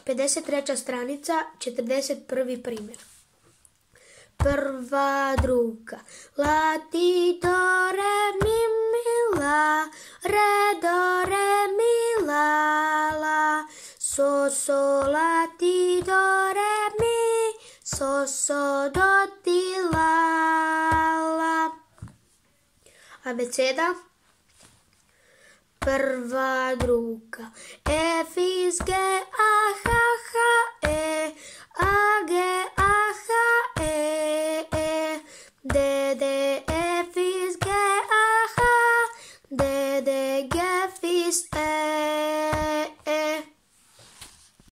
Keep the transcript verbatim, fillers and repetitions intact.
pedeset treća stranica, četrdeset prvi primjer. Prva, druga. La, ti, do, re, mi, mi, la. Re, do, re, mi, la, la. So, so, la, ti, do, re, mi. So, so, do, ti, la, la. Abeceda. Prva, druga. E, F, G, A, H, H,